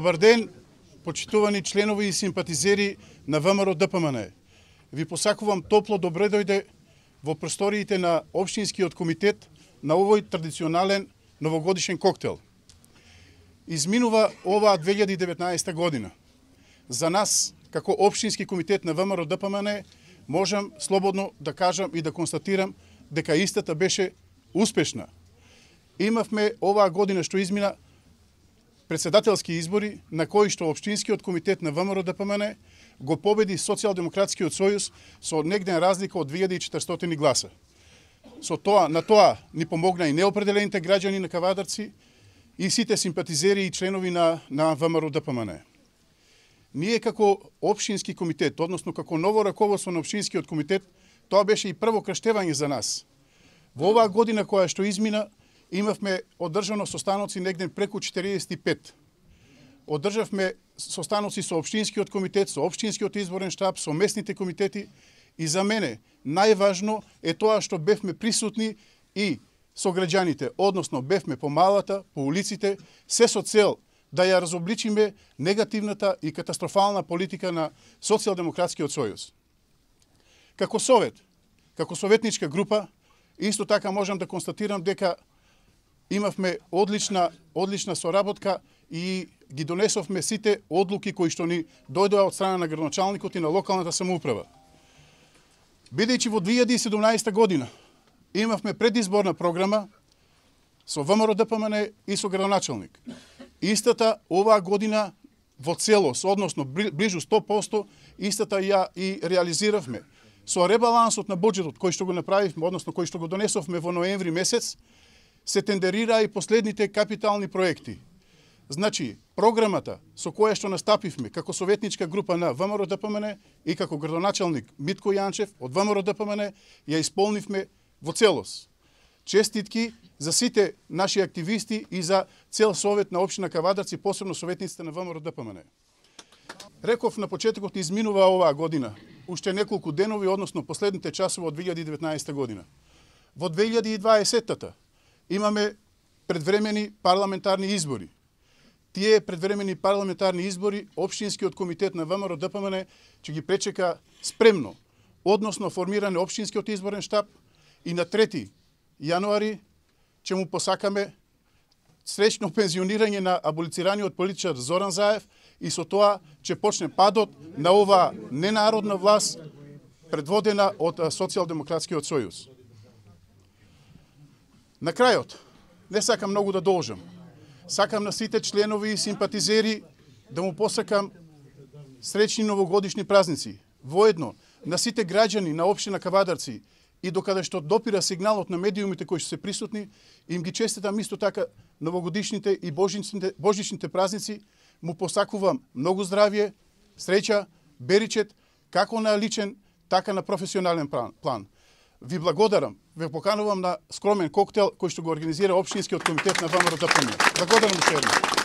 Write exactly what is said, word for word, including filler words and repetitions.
Добар ден, почитувани членови и симпатизери на ВМРО Д П М Н. Ви посакувам топло добре дојде во просториите на Општинскиот комитет на овој традиционален новогодишен коктел. Изминува оваа две илјади и деветнаесета година. За нас, како Општински комитет на ВМРО Д П М Н, можам слободно да кажам и да констатирам дека истата беше успешна. Имавме оваа година што измина председателски избори на кои што Општинскиот комитет на ВМРО Д П М Н го победи Социјалдемократскиот сојуз со негден разлика од две илјади и четиристотини гласа. Со тоа, на тоа ни помогна и неопределените граѓани на Кавадарци и сите симпатизери и членови на, на ВМРО Д П М Н. Ние како Општински комитет, односно како ново раководство на Општинскиот комитет, тоа беше и прво крштевање за нас. Во оваа година која што измина, имавме одржано состаноци негден преку четириесет и пет. Одржавме состаноци со Општинскиот комитет, со Општинскиот изборен штаб, со местните комитети и за мене најважно е тоа што бевме присутни и со граѓаните, односно бевме по малата, по улиците, се со цел да ја разобличиме негативната и катастрофална политика на Социјалдемократскиот сојуз. Како совет, како советничка група, исто така можам да констатирам дека имавме одлична, одлична соработка и ги донесовме сите одлуки кои што ни дојдоа од страна на градоначалникот и на локалната самоуправа. Бидејќи во две илјади и седумнаесета година имавме предизборна програма со ВМРО Д П М Н и со градоначалник. Истата оваа година во целост, односно ближу сто проценти, истата ја и реализиравме. Со ребалансот на буџетот кој што го направивме, односно кој што го донесовме во ноември месец, се тендерира и последните капитални проекти. Значи, програмата со која што настапивме како советничка група на ВМРО Д П М Н и како градоначалник Митко Јанчев од ВМРО Д П М Н ја исполнивме во целост. Честитки за сите наши активисти и за цел совет на општина Кавадарци, посебно советниците на ВМРО Д П М Н. Реков на почетокот изминува оваа година, уште неколку денови, односно последните часови од две илјади и деветнаесета година. Во две илјади и дваесета имаме предвремени парламентарни избори. Тие предвремени парламентарни избори Општинскиот комитет на ВМРО Д П М Н ќе ги пречека спремно, односно формиране Општинскиот изборен штаб и на трети јануари ќе му посакаме среќно пензионирање на аболицираниот политичар Зоран Заев и со тоа ќе почне падот на оваа ненародна власт предводена од Социјалдемократскиот сојуз. На крајот, не сакам многу да должам. Сакам на сите членови и симпатизери да му посакам среќни новогодишни празници. Воедно, на сите граѓани на општина Кавадарци и докаде што допира сигналот на медиумите кои што се присутни, им ги честитам исто така новогодишните и божичните, божичните празници. Му посакувам многу здравје, среќа, беричет, како на личен, така на професионален план. Ви благодарам, ве поканувам на скромен коктел кој што го организира Општинскиот комитет на ВМРО Д П М Н. Благодарам уште еднаш.